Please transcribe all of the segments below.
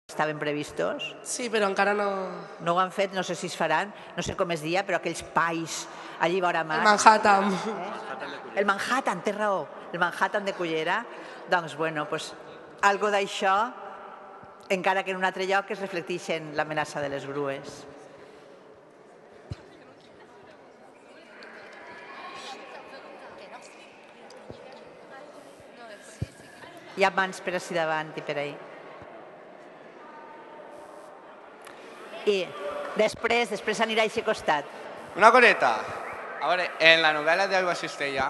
estaven previstos? Sí, però encara no... No ho han fet, no sé si es faran, no sé com es dia, però aquells pais allí vora mar. El Manhattan. El Manhattan, té raó, el Manhattan de Cullera. Doncs, bueno, algo d'això, encara que en un altre lloc es reflecteix en l'amenaça de les grues. Hi ha mans per ací davant i per ahí. I després anirà a aquest costat. Una coseta. A veure, en la novel·la d'Aigua Cistella,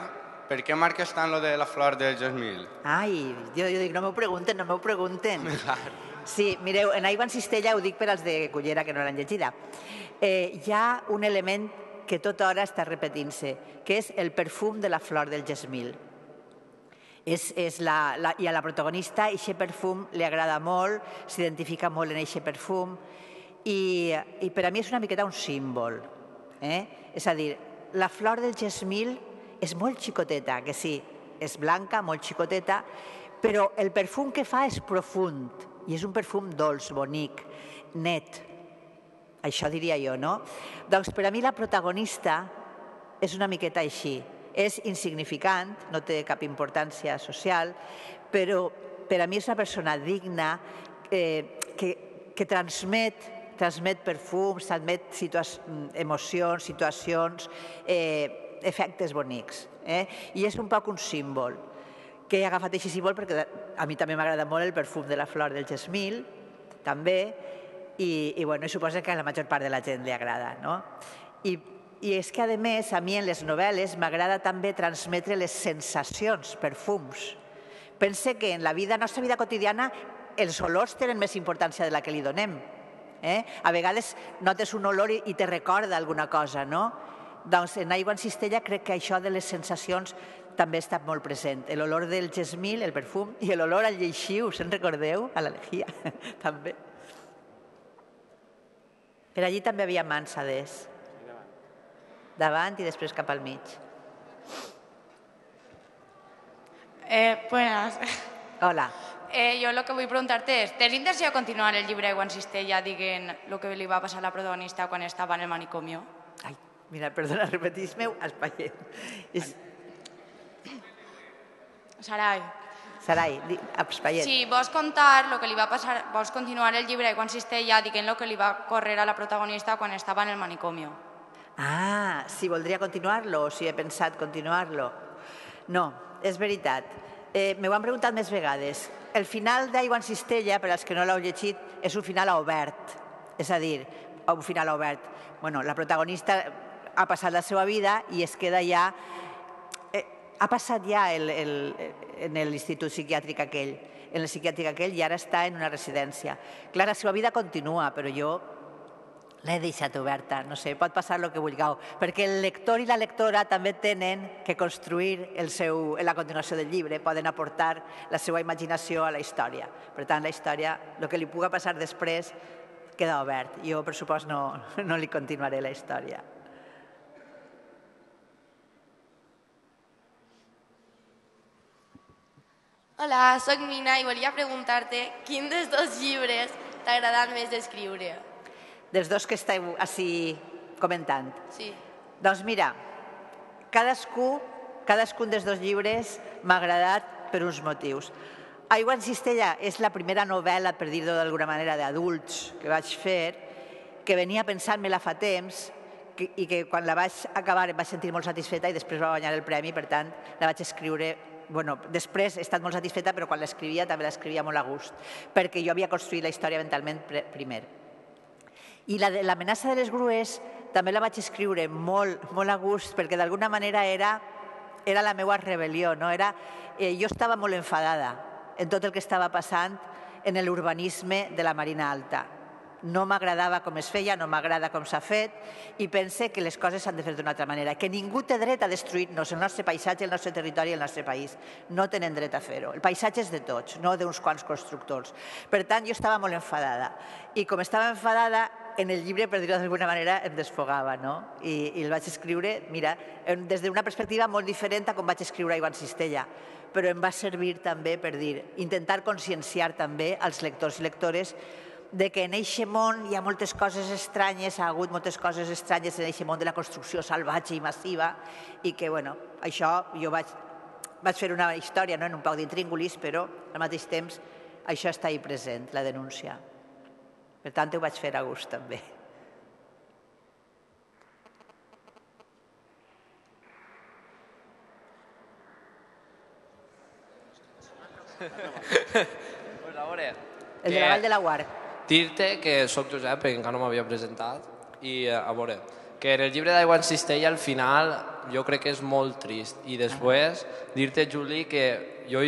per què marques tant lo de la flor del gesmil? Ai, jo dic, no m'ho pregunten. Sí, mireu, en Aigua en Cistella, ho dic per als de Cullera que no l'han llegida, hi ha un element que tota hora està repetint-se, que és el perfum de la flor del gesmil. I a la protagonista aquest perfum li agrada molt, s'identifica molt en aquest perfum i per a mi és una miqueta un símbol. És a dir, la flor del gesmil és molt xicoteta, que sí, és blanca, molt xicoteta, però el perfum que fa és profund i és un perfum dolç, bonic, net. Això diria jo, no? Doncs per a mi la protagonista és una miqueta així. És insignificant, no té cap importància social, però per a mi és una persona digna que transmet perfums, transmet emocions, situacions, efectes bonics. I és un poc un símbol, que he agafat aquest símbol perquè a mi també m'agrada molt el perfum de la flor del gesmil, també, i suposo que a la major part de la gent li agrada. I és que, a més, a mi en les novel·les m'agrada també transmetre les sensacions, perfums. Pense que en la nostra vida quotidiana els olors tenen més importància de la que li donem. A vegades notes un olor i te recorda alguna cosa, no? Doncs en Aigua en Cistella crec que això de les sensacions també està molt present. L'olor del gesmil, el perfum, i l'olor al lleixiu, se'n recordeu? A la lejía, també. Per allí també havia mansades. Davant i després cap al mig. Buenas. Hola. Jo el que vull preguntar-te és, tens intenció de continuar el llibre Aigua en Cistella dient el que li va passar a la protagonista quan estava en el manicomio? Ai, mira, perdona, repetís-me-ho, espaiet. Sarai. Sarai, espaiet. Si vols contar el que li va passar, vols continuar el llibre Aigua en Cistella dient el que li va córrer a la protagonista quan estava en el manicomio. Ah, si voldria continuar-lo o si he pensat continuar-lo. No, és veritat. M'ho han preguntat més vegades. El final d'Aigua en Cistella, per als que no l'heu llegit, és un final obert. És a dir, un final obert. La protagonista ha passat la seva vida i es queda ja... Ha passat ja en l'institut psiquiàtric aquell, en el psiquiàtric aquell, i ara està en una residència. Clar, la seva vida continua, però jo l'he deixat oberta, no sé, pot passar el que vulgueu, perquè el lector i la lectora també tenen que construir la continuació del llibre, poden aportar la seva imaginació a la història. Per tant, la història, el que li pugui passar després, queda obert. Jo, per supost, no li continuaré la història. Hola, soc Mina i volia preguntar-te quin dels dos llibres t'ha agradat més d'escriure? Dels dos que esteu així comentant? Sí. Doncs mira, cadascun dels dos llibres m'ha agradat per uns motius. Aigua en Cistella és la primera novel·la, per dir-ho d'alguna manera, d'adults que vaig fer, que venia pensant-me-la fa temps i que quan la vaig acabar em vaig sentir molt satisfeta i després va guanyar el premi, per tant, la vaig escriure... Després he estat molt satisfeta, però quan l'escrivia també l'escrivia molt a gust, perquè jo havia construït la història mentalment primer. I l'amenaça de les grues també la vaig escriure molt a gust, perquè d'alguna manera era la meva rebel·lió. Jo estava molt enfadada en tot el que estava passant en l'urbanisme de la Marina Alta. No m'agradava com es feia, no m'agrada com s'ha fet, i pense que les coses s'han de fer d'una altra manera, que ningú té dret a destruir-nos el nostre paisatge, el nostre territori i el nostre país. No tenen dret a fer-ho. El paisatge és de tots, no d'uns quants constructors. Per tant, jo estava molt enfadada. I com estava enfadada, en el llibre, per dir-ho d'alguna manera, em desfogava, no? I el vaig escriure, mira, des d'una perspectiva molt diferent a com vaig escriure Ivan Cistella, però em va servir també per dir, intentar conscienciar també als lectors i lectores de que en eixe món hi ha moltes coses estranyes, ha hagut moltes coses estranyes en eixe món de la construcció salvatge i massiva, i que, bueno, això jo vaig fer una història en un poc d'intríngulis, però al mateix temps això està ahí present, la denúncia. Per tant, ho vaig fer a gust, també. Pues a veure... El de la Vall de Laguar. Dir-te que soc Josep, que encara no m'havia presentat, i a veure, que en el llibre d'Ivan Cistella al final jo crec que és molt trist. I després dir-te, Juli, que jo,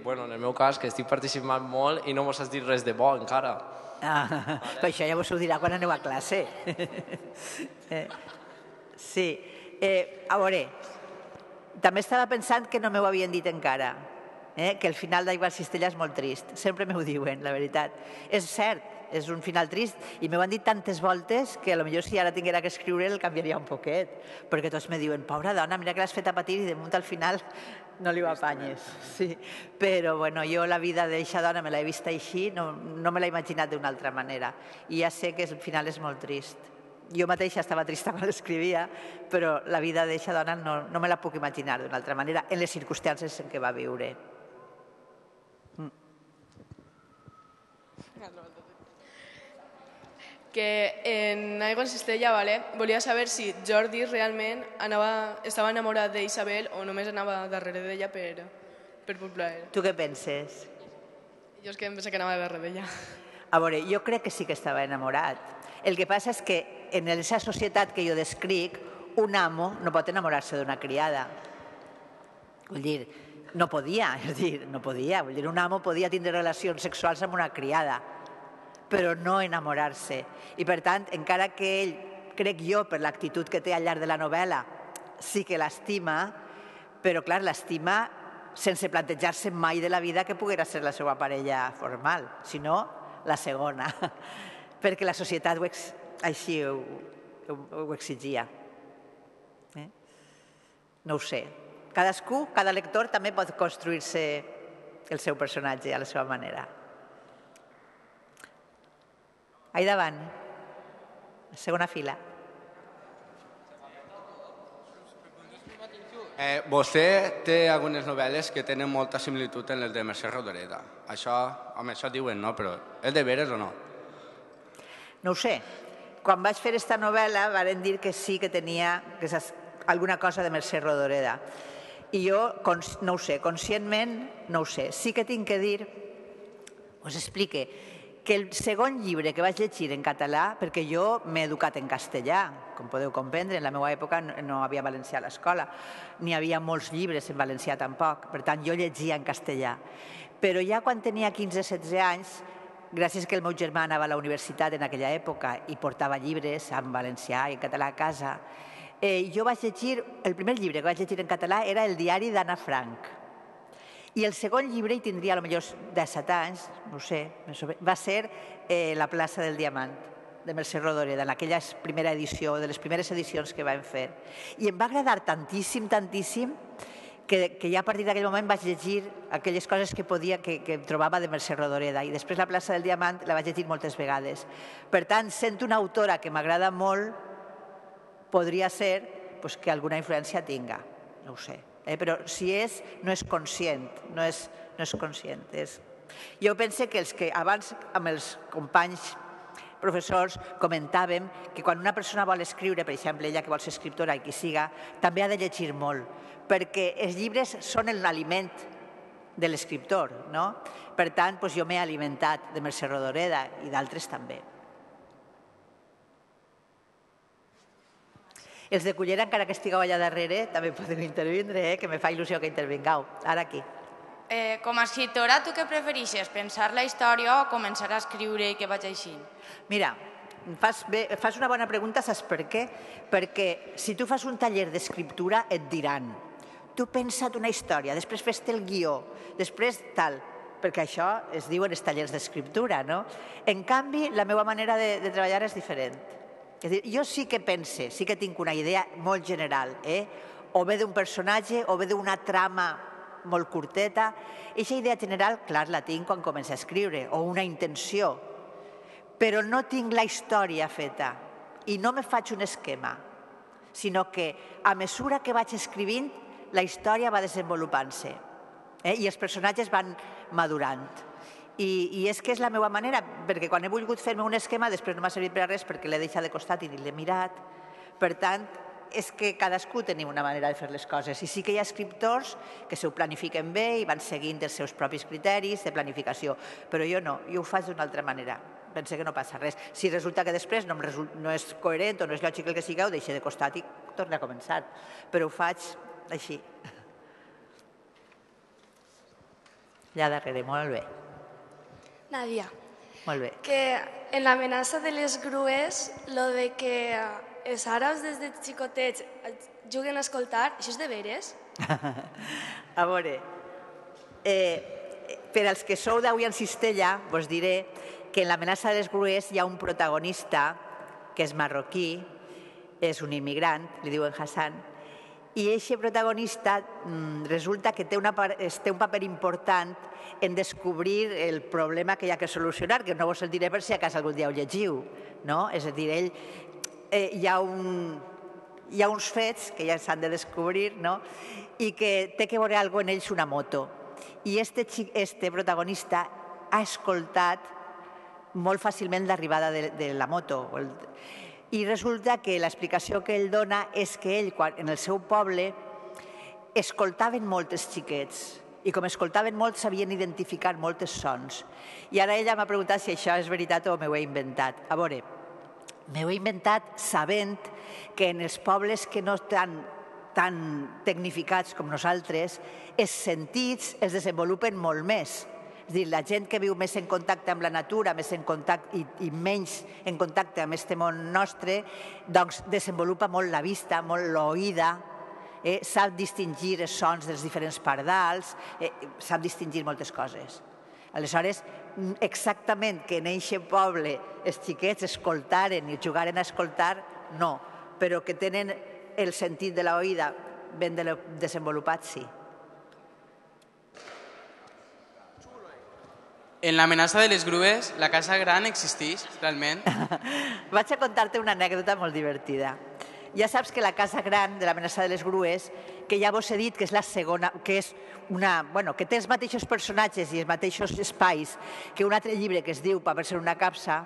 bueno, en el meu cas, que estic participant molt i no mos has dit res de bo encara. Però això ja vos ho dirà quan aneu a classe. Sí. A veure, també estava pensant que no m'ho havien dit encara, que el final d'Ivan Cistella és molt trist. Sempre m'ho diuen, la veritat. És cert, és un final trist i m'ho han dit tantes voltes que potser si ara tinguera que escriure el canviaria un poquet, perquè tots me diuen, pobra dona, mira que l'has fet a patir i de munt al final no li ho apanyes. Sí. Però bueno, jo la vida d'eixa dona me l'he vista així, no me l'he imaginat d'una altra manera. I ja sé que el final és molt trist. Jo mateixa estava trista quan l'escrivia, però la vida d'eixa dona no me la puc imaginar d'una altra manera en les circumstàncies en què va viure. Que en Ivan Cistella volia saber si Jordi realment estava enamorat d'Isabel o només anava darrere d'ella per plaer. Tu què penses? Jo és que em penso que anava darrere d'ella. A veure, jo crec que sí que estava enamorat. El que passa és que en aquesta societat que jo descric, un amo no pot enamorar-se d'una criada. Vull dir, no podia, Vull dir, un amo podia tindre relacions sexuals amb una criada, però no enamorar-se. I per tant, encara que ell, crec jo, per l'actitud que té al llarg de la novel·la, sí que l'estima, però clar, l'estima sense plantejar-se mai de la vida que poguera ser la seva parella formal, sinó la segona, perquè la societat així ho exigia. No ho sé. Cadascú, cada lector també pot construir-se el seu personatge a la seva manera. Ahí davant, segona fila. Vostè té algunes novel·les que tenen molta similitud en les de Mercè Rodoreda. Això diuen, no? Però és de veres o no? No ho sé. Quan vaig fer aquesta novel·la varen dir que sí que tenia alguna cosa de Mercè Rodoreda. I jo no ho sé, conscientment no ho sé. Sí que tinc que dir, us explique, que el segon llibre que vaig llegir en català, perquè jo m'he educat en castellà, com podeu comprendre, en la meva època no hi havia valencià a l'escola, n'hi havia molts llibres en valencià tampoc, per tant jo llegia en castellà. Però ja quan tenia 15-16 anys, gràcies que el meu germà anava a la universitat en aquella època i portava llibres en valencià i en català a casa, jo vaig llegir, el primer llibre que vaig llegir en català era el diari d'Anna Frank. I el segon llibre, hi tindria potser 17 anys, no sé, va ser La plaça del diamant, de Mercè Rodoreda, en aquella primera edició, de les primeres edicions que vam fer. I em va agradar tantíssim, que ja a partir d'aquell moment vaig llegir aquelles coses que trobava de Mercè Rodoreda. I després La plaça del diamant la vaig llegir moltes vegades. Per tant, sent una autora que m'agrada molt, podria ser que alguna influència tinga, no ho sé. Però si no és conscient, no és conscient. Jo penso que abans amb els companys professors comentàvem que quan una persona vol escriure, per exemple, ella que vol ser escriptora i qui siga, també ha de llegir molt, perquè els llibres són l'aliment de l'escriptor, no? Per tant, jo m'he alimentat de Mercè Rodoreda i d'altres també. Els de Cullera, encara que estigueu allà darrere, també podeu intervindre, que me fa il·lusió que intervingueu. Ara aquí. Com a escriptora, tu què preferixes? Pensar la història o començar a escriure i que vaig així? Mira, fas una bona pregunta, saps per què? Perquè si tu fas un taller d'escriptura et diran tu pensa't una història, després fes-te el guió, després tal. perquè això es diu en els tallers d'escriptura, no? En canvi, la meva manera de treballar és diferent. És a dir, jo sí que pense, sí que tinc una idea molt general, o bé d'un personatge o bé d'una trama molt curteta. Aquesta idea general, clar, la tinc quan començo a escriure, o una intenció, però no tinc la història feta i no me faig un esquema, sinó que a mesura que vaig escrivint, la història va desenvolupant-se i els personatges van madurant. I és que és la meva manera, perquè quan he volgut fer-me un esquema després no m'ha servit per a res perquè l'he deixat de costat i ni l'he mirat. Per tant, és que cadascú tenim una manera de fer les coses. I sí que hi ha escriptors que s'ho planifiquen bé i van seguint els seus propis criteris de planificació, però jo no, jo ho faig d'una altra manera. Penso que no passa res. Si resulta que després no és coherent o no és lògic el que sigui, ho deixo de costat i torno a començar. Però ho faig així. Allà darrere, molt bé. Nadia, Molt bé. que en l'amenaça de les grues, lo de que els àrabs des de xicotets juguen a escoltar, això és de veres? A veure, per als que sou d'avui en Cistella, vos diré que en l'amenaça de les grues hi ha un protagonista que és marroquí, és un immigrant, li diuen Hassan, i aquest protagonista resulta que té un paper important en descobrir el problema que hi ha que solucionar, que no vos el diré per si a casa algun dia ho llegiu. És a dir, hi ha uns fets que ja s'han de descobrir i que té que veure alguna cosa en ells una moto. I este protagonista ha escoltat molt fàcilment l'arribada de la moto. I resulta que l'explicació que ell dona és que ell, en el seu poble, escoltaven molt els xiquets i com escoltaven molt sabien identificar moltes sons. I ara ella m'ha preguntat si això és veritat o m'ho he inventat. A veure, m'ho he inventat sabent que en els pobles que no estan tan tecnificats com nosaltres, els sentits es desenvolupen molt més. És a dir, la gent que viu més en contacte amb la natura, més en contacte i menys en contacte amb aquest món nostre, doncs desenvolupa molt la vista, molt l'oïda, sap distingir els sons dels diferents pardals, sap distingir moltes coses. Aleshores, exactament que en aquest poble els xiquets escoltaren i jugaren a escoltar, no, però que tenen el sentit de l'oïda ben desenvolupat, sí. En l'amenaça de les grues, la casa gran existeix realment? Vaig a contar-te una anècdota molt divertida. Ja saps que la casa gran de l'amenaça de les grues, que ja vos he dit que és la segona, que és que té els mateixos personatges i els mateixos espais que un altre llibre que es diu Paper ser una capsa,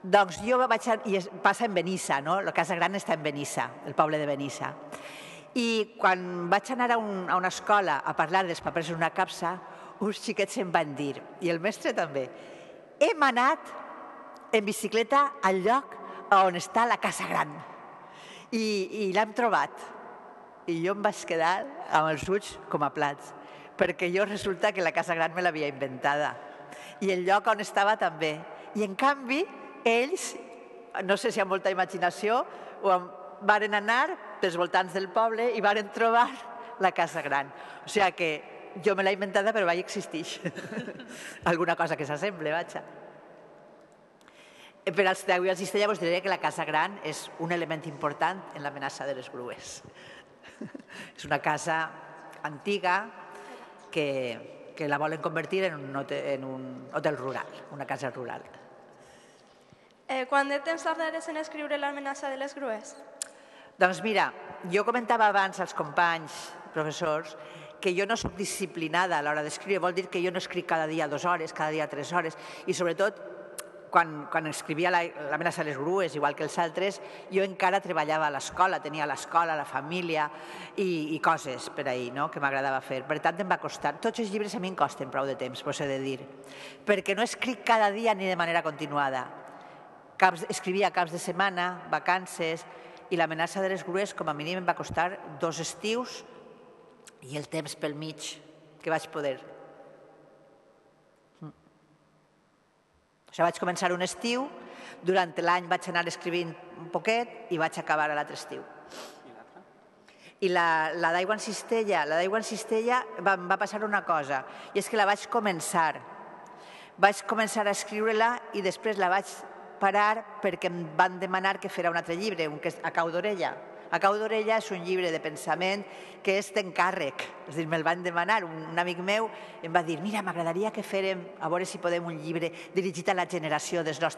doncs jo i passa en Benissa, no? La casa gran està en Benissa, el poble de Benissa. I quan vaig anar a una escola a parlar dels papers en una capsa, uns xiquets em van dir, i el mestre també, hem anat en bicicleta al lloc on està la casa gran i l'hem trobat. I jo em vaig quedar amb els ulls com a plats, perquè jo resulta que la casa gran me l'havia inventada i el lloc on estava també. I en canvi, ells, no sé si amb molta imaginació, varen anar pels voltants del poble i varen trobar la casa gran. O sigui que jo me l'he inventada, però vaig existir. Alguna cosa que s'assemble, vaja. Per als d'avui al Cistella vos diré que la casa gran és un element important en l'amenaça de les grues. És una casa antiga que la volen convertir en un hotel rural, una casa rural. Quant de temps tardaràs en escriure l'amenaça de les grues? Doncs mira, jo comentava abans als companys, professors, que jo no soc disciplinada a l'hora d'escriure, vol dir que jo no escric cada dia 2 hores, cada dia 3 hores, i sobretot quan escrivia l'amenaça de les grues, igual que els altres, jo encara treballava a l'escola, tenia l'escola, la família i coses per ahir que m'agradava fer. Per tant, em va costar. Tots els llibres a mi em costen prou de temps, vos he de dir, perquè no escric cada dia ni de manera continuada. Escrivia caps de setmana, vacances, i l'amenaça de les grues com a mínim em va costar 2 estius i el temps pel mig que vaig poder. O sigui, vaig començar un estiu, durant l'any vaig anar escrivint un poquet i vaig acabar a l'altre estiu. I la d'Aigua en Cistella em va passar una cosa, i és que la vaig començar a escriure-la i després la vaig parar perquè em van demanar que fera un altre llibre, un que és A cau d'orella. A cau d'orella és un llibre de pensament que és d'encàrrec. És a dir, me'l van demanar. Un amic meu em va dir, mira, m'agradaria que férem, a veure si podem, un llibre dirigit a la generació dels nostres